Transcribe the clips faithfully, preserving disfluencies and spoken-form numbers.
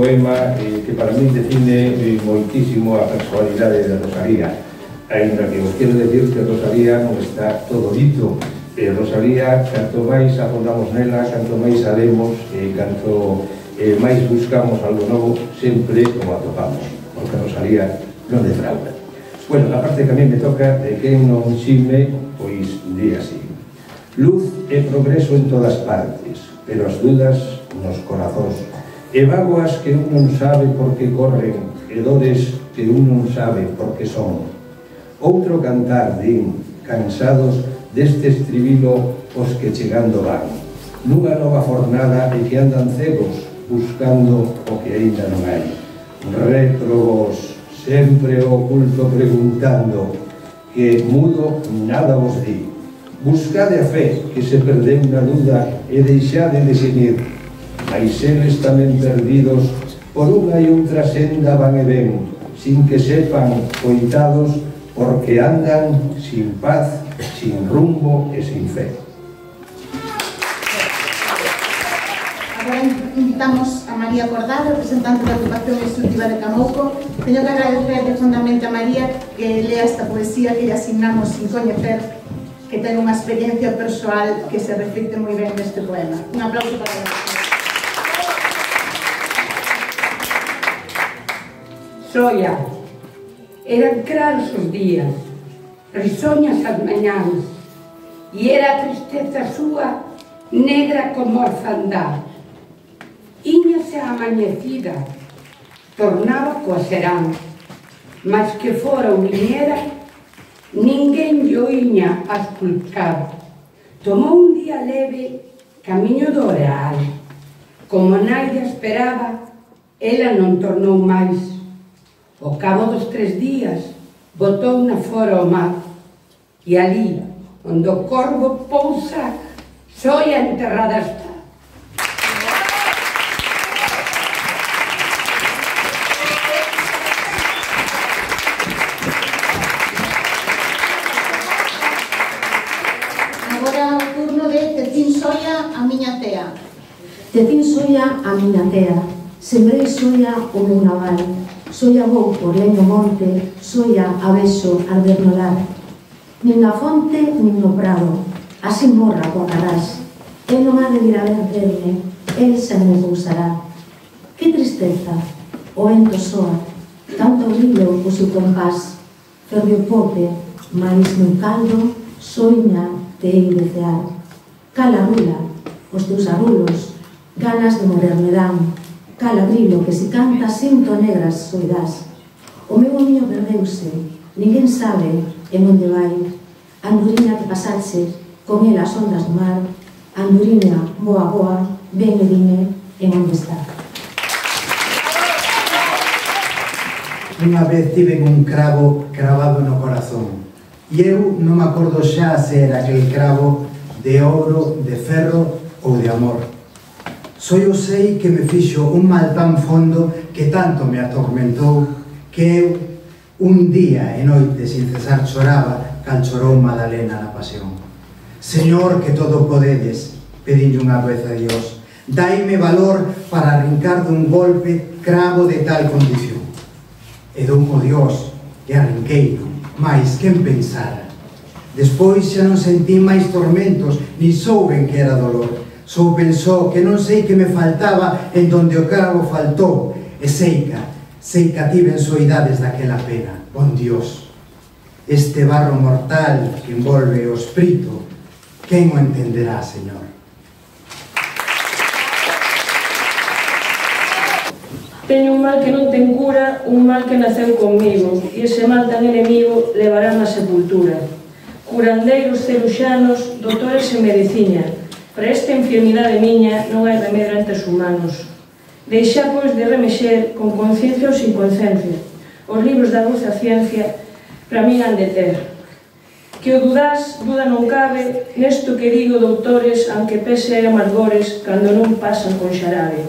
poema que para min define moitísimo a personalidade de Rosalía, ainda que vos quero decir que Rosalía non está todo dito. Rosalía, canto máis afondamos nela, canto máis sabemos, canto máis buscamos algo novo, sempre o atopamos, porque Rosalía non defrauda. Bueno, a parte que a mí me toca, de quen non xime, pois di así: luz e progreso en todas partes, pero as dudas nos corazóns, e vagoas que un non sabe por que corren, e dores que un non sabe por que son. Outro cantar, din, cansados deste estribilo os que chegando van, nunha nova fornada e que andan cegos buscando o que aínda non hai. Rétrogos, sempre oculto preguntando, que mudo nada vos di. Buscade a fe que se perdeu na duda e deixade de xemir, mais eles tamén perdidos por unha e outra senda van e ven, sin que sepan, coitados, porque andan sin paz, sin rumbo e sin fe. Agora invitamos a María Cordal, representante da Agrupación Instructiva de Camouco. Teño que agradecer profundamente a María que lea esta poesía que lle asignamos sin coñecer, que ten unha experiencia persoal que se reflicte moi ben neste poema. Un aplauso para ela. Soia, eran claros os días, risoñas as mañáns, e era a tristeza súa negra como a orfandad. Íñase a amanecida, tornaba coa serán, mas que fora ou viñera, ninguén lle oíña a esculcar. Tomou un día leve camiño do Oreal. Como naide esperaba, ela non tornou máis. Ao cabo dos tres días, botou na fora o mar, e ali, onde o corvo pousa, Soia enterrada está. Agora o turno de Tecín Soia, a miña tea. Tecín Soia, a miña tea, sembrei soia o meu naval, soia vou por leño monte, soia a beso arder no lar. Nin na fonte, nin no prado, así morra coa carás. El non ha de vir a verme, el xa me pousará. Que tristeza, o vento soa, tanto brillo o seu compás. Ferve o pote, mais no caldo, soña te hei de cear. Cala rula, os teus arrulos, ganas de morrer me dan. Cala brillo que se canta sinto negras soidás. O meu niño perdeuse, ninguén sabe en onde vai. Anduriña que pasache, con ela as ondas do mar. Anduriña, boa, boa, ven e dime en onde está. Unha vez tive un cravo cravado no corazón, e eu non me acordo xa se era aquel cravo de ouro, de ferro ou de amor. Só eu sei que me fixo un mal tan fondo que tanto me atormentou que eu un día e noite sin cesar choraba cal chorou Madalena na pasión. Señor, que todo podedes, pedinlle unha vez a Dios, daime valor para arrincar dun golpe cravo de tal condición. E dou o Dios e arrinqueino, mais quen pensara. Despois xa non sentí máis tormentos, ni souben que era dolor. Só pensou que non sei que me faltaba en donde o cravo faltou, e seica, seica tiven soidades daquela pena. Bon Dios, este barro mortal que envolve o espírito, quen o entenderá, Señor? Teño un mal que non ten cura, un mal que naceu conmigo, e ese mal tan enemigo levará na sepultura. Curandeiros ceruxanos, doutores en medicina, para esta enfermidade miña non hai remedio ante os humanos. Deixar, pois, de remexer con conciencia ou sin conciencia. Os libros da doce ciencia para min han de ter. Que o dudás, duda non cabe, nesto que digo, doutores, aunque pese hai amargores, cando non pasan con xarabe.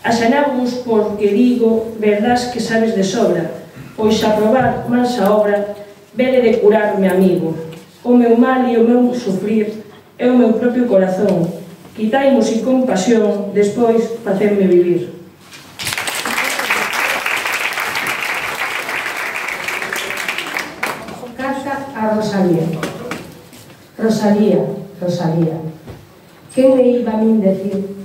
Asanavos porque digo, verdás que sabes de sobra, pois a probar mansa obra, vele de curarme, amigo. O meu mal e o meu sufrir é o meu propio corazón. Quitaimos sin compasión, despois facerme vivir. a Rosalía. Rosalía, Rosalía, quen me iba a min decir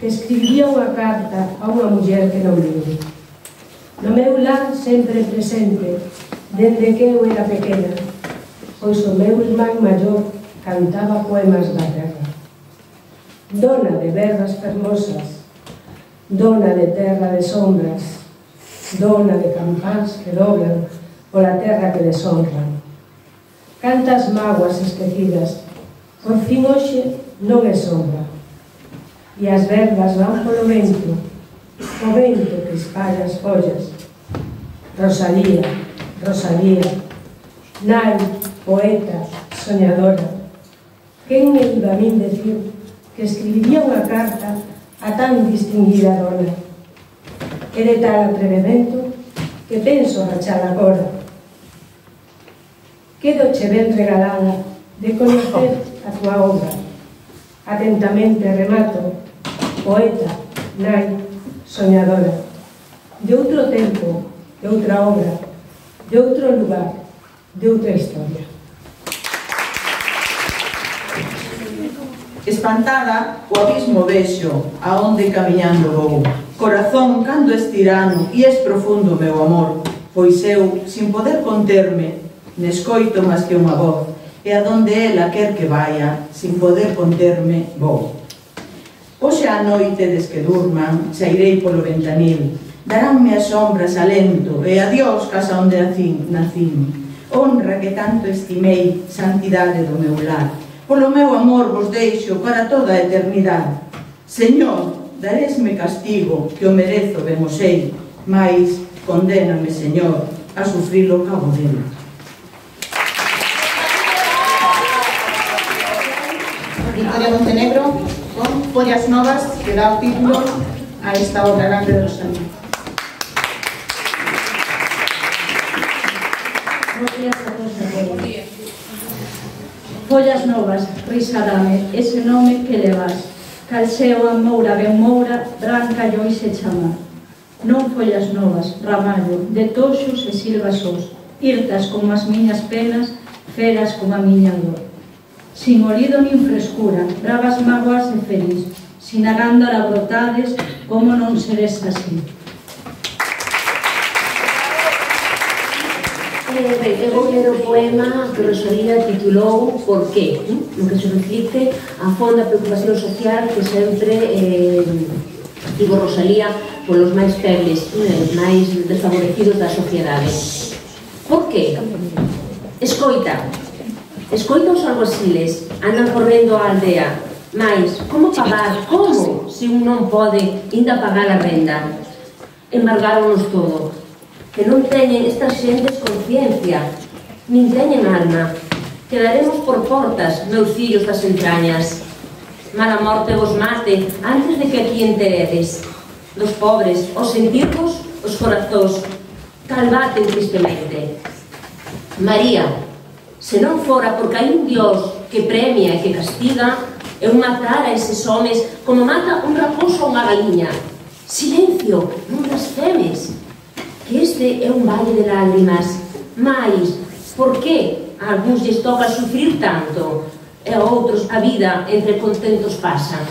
que escribía unha carta a unha muller que non vive? No meu lar sempre presente, dende que eu era pequena, pois o meu irmán maior cantaba poemas da terra. Dona de berras fermosas, dona de terra de sombras, dona de campás que doblan pola terra que deshonran. Cantas mágoas esquecidas, por fin hoxe non é sombra, e as verbas van polo vento, o vento que espalla as follas. Rosalía, Rosalía, nai, poeta, soñadora, quen me iba a min decir que escribiría unha carta a tan distinguida dona? É de tal atrevemento que penso rachar agora. Quedoche ben regalada de conocer a tua obra. Atentamente remato, poeta, nai, soñadora, de outro tempo, de outra obra, de outro lugar, de outra historia. Espantada, o abismo vexo, aonde camiñando vou. Corazón, cando es tirano, e es profundo meu amor, pois eu, sin poder conterme, nescoito máis que unha voz, e adonde ela quer que vaya, sin poder conterme, vou. Hoxe a noite, des que durman, sairei polo ventanil, daránme as sombras alento, e adiós casa onde nacín. Honra que tanto estimei, santidade do meu lar, polo meu amor vos deixo para toda a eternidade. Señor, daresme castigo, que o merezo, ben o sei, mais condéname, Señor, a sufrir o cabo dele. Victoria Montenegro, con Follas Novas, que dá o título a esta obra grande de Rosalía. Follas Novas, risa dame, ese nome que levas, cal seo a moura ben moura, branca lloi se chama. Non follas novas, ramallo, de toxos e silvas os, irtas como as miñas penas, feras como a miña dor. Sin olido nin frescura, bravas mágoas e feliz, sin a gándara brotades, como non seres así. Eu vou ler o poema que Rosalía titulou Por qué, no que se reflicte a fonda preocupación social que sempre eh, tivo Rosalía polos máis febles, máis desfavorecidos da sociedade. Por qué? Escoita, escoita os alguaciles, andan correndo á aldea, mais como pagar, como, se un non pode inda pagar a renda? Embargáronos todo, que non teñen estas xentes conciencia, nin teñen alma. Quedaremos por portas, meus fillos das entrañas. Mala morte vos mate antes de que aquí enteredes. Dos pobres, os sentirvos, os corazóns, calbaten tristemente. María, se non fora porque hai un Dios que premia e que castiga, eu matara eses homes como mata un raposo a unha galiña. Silencio, non blasfemes, que este é un valle de lágrimas. Mais, por que a algúns lles toca sufrir tanto e a outros a vida entre contentos pasan?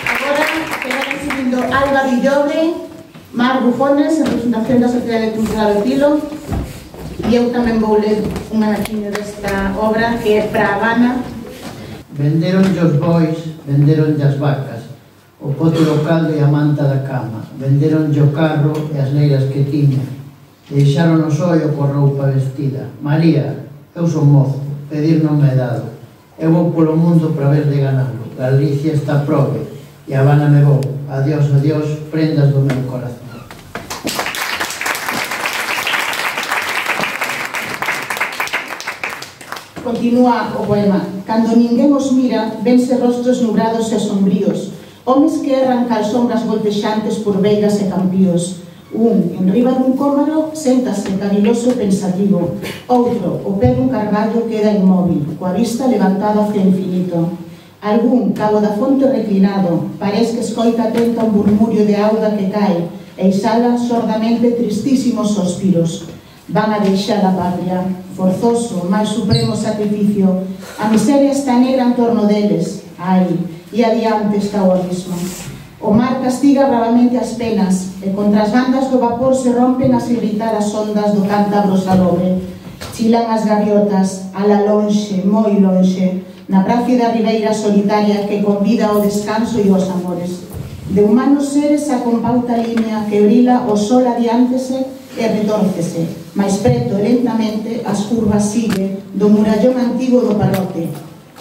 Agora, queda recibindo Alba Villobre, Mar Bufones, en representación da Sociedade Cultural do Pilo, e eu tamén vou ler un anaquiño desta obra que é para Habana. Venderonlle os bois, venderonlle as vacas, o pote local e a manta da cama, venderonlle o carro e as leiras que tiña, deixaron o sollo coa roupa vestida. María, eu son mozo, pedir non me é dado, eu vou polo mundo para ver de ganalo, Galicia está probe, e Habana me vou, adiós, adiós, prendas do meu corazón. Continúa o poema. Cando ninguén os mira, vense rostros nubrados e sombríos, homes que erran cal sombras voltexantes por veigas e campíos. Un, en riba dun cómaro, séntase caviloso e pensativo. Outro, o pé dun carballo queda inmóvil, coa vista levantada hacia o infinito. Algún, cabo da fonte reclinado, parece que escoita atento un murmurio de auga que cae e exhala sordamente tristísimos sospiros. Van a deixar a patria, forzoso, máis supremo sacrificio. A miseria está negra en torno deles. Ai, e adiante está o abismo. O mar castiga bravamente as penas e contra as bandas do vapor se rompen as irritadas ondas do cántabro salobre. Chilan as gaviotas, ala lonxe, moi lonxe, na plácida ribeira solitaria que convida ao descanso e aos amores. De humanos seres a compauta línea que brila o sol adiántese e retórcese, máis preto e lentamente as curvas sigue do murallón antigo do parrote.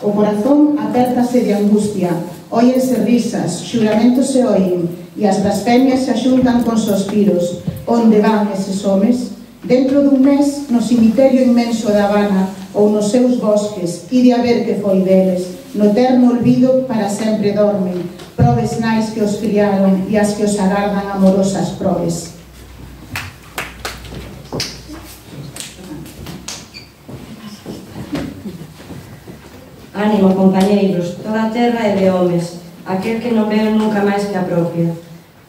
O corazón apértase de angustia, óyense risas, xuramentos se oen, e as blasfemias se axuntan con sospiros. Onde van eses homes? Dentro dun mes, no cemiterio inmenso da Habana ou nos seus bosques, ide a ver que foi deles. No eterno olvido para sempre dormen, probes nais que os criaron e as que os agardan amorosas probes. Ánimo, compañeiros, toda a terra é de homes, aquel que non veo nunca máis que a propia.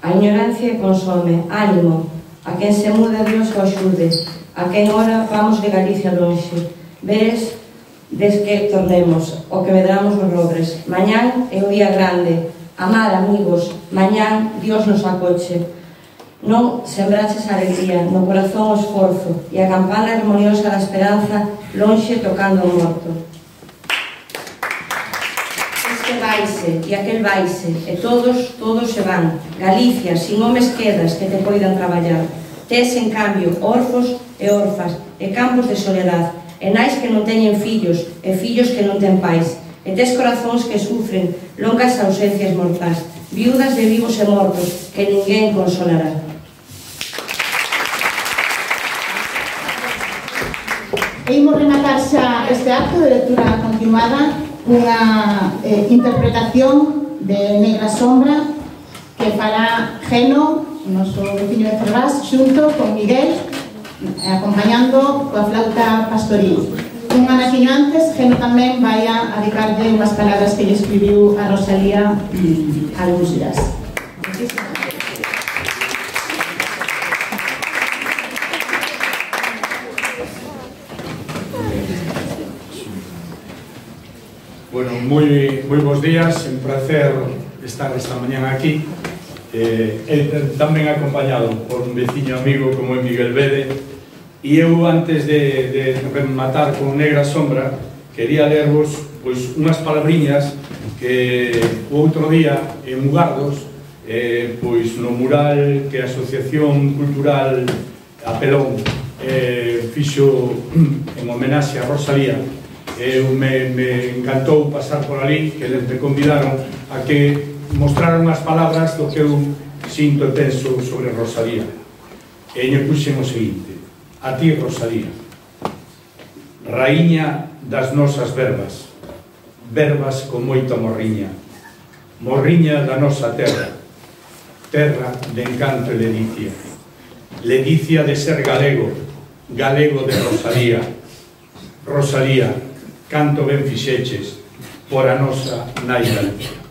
A ignorancia consome, ánimo, a quen se muda Dios o axude, a quen ora vamos de Galicia lonxe. Veres, des que tornemos, o que medramos os logres. Mañán é o día grande, amar amigos, mañán Dios nos acoche. Non sembraches a alegría, no corazón o esforzo, e a campana harmoniosa da esperanza lonxe tocando o morto. Este vaise, e aquel vaise, e todos, todos se van. Galicia, sin homes quedas que te poidan traballar. Tes, en cambio, orfos e orfas, e campos de soledad, e nais que non teñen fillos, e fillos que non ten pais, e tes corazóns que sufren longas ausencias mortais, viudas de vivos e mortos, que ninguén consolará. E imos rematar xa este acto de lectura continuada unha eh, interpretación de Negra Sombra que fará Geno, o noso veciño de Ferraz, xunto con Miguel, acompañando coa flauta pastoril. Un anaquiño antes, Geno tamén vai a dedicarlle unhas palabras que lle escribiu a Rosalía mm, algúns días. Bueno, moi, moi bons días, un placer estar esta mañán aquí, eh, eh, tamén acompañado por un veciño amigo como é Miguel Bede, e eu antes de, de rematar con Negra Sombra quería lervos pois, unhas palabriñas que o outro día en Mugardos, eh, pois no mural que a Asociación Cultural Apelón eh, fixo en homenaxe a Rosalía. Eu me, me encantou pasar por ali, que eles me convidaron a que mostraran unhas palabras do que eu sinto e penso sobre Rosalía. E lle puxen o seguinte: a ti, Rosalía, raíña das nosas verbas, verbas con moita morriña, morriña da nosa terra, terra de encanto e ledicia, ledicia de ser galego, galego de Rosalía. Rosalía, canto ben fixeches por a nosa nai Galicia.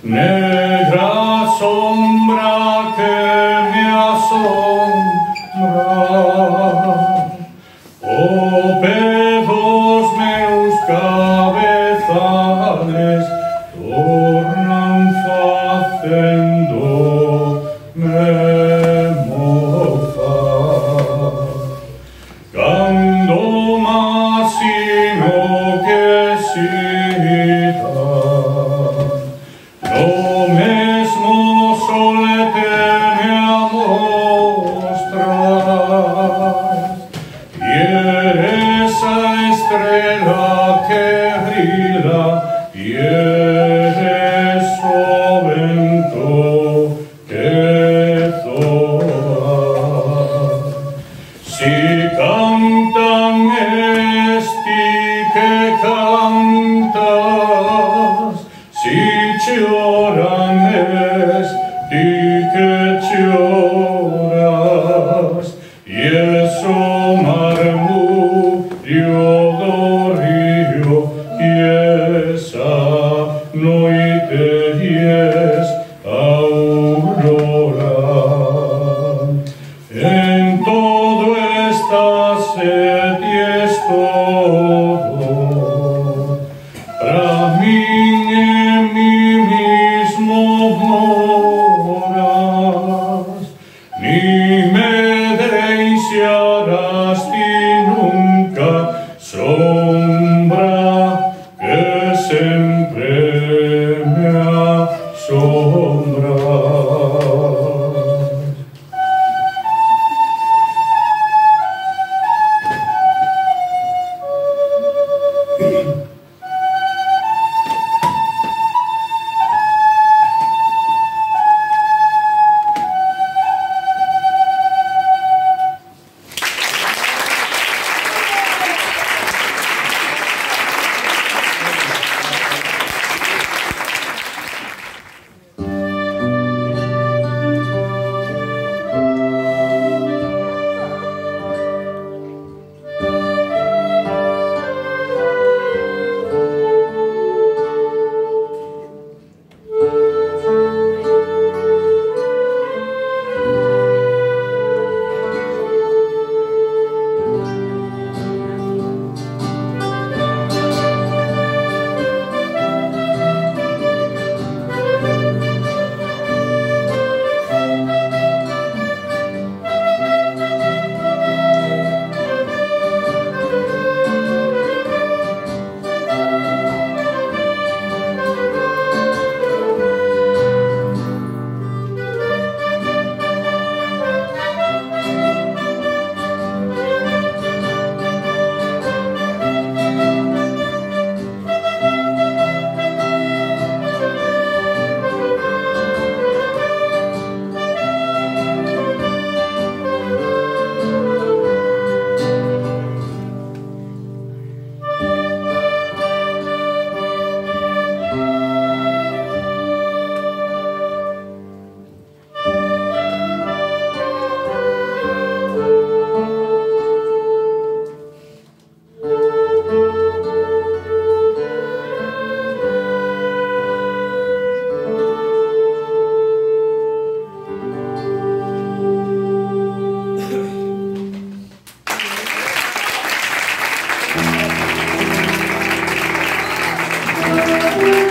negra sombra que me asombra, o pedos meus cabezales tornan facendo me mozar. Cando masino que sita, no mesmo sol te me amostras, y eres a estrella que brilla, y eres o vento que zoa. Si cantan esti que cantas, si lloran esti que lloras, y eso marmurio do río, y esa noite y es aurora. En todo estás e es todo, pra min en mí mismo moras, ni me deixarás ti nunca, sombra que sempre me asombra. Thank you.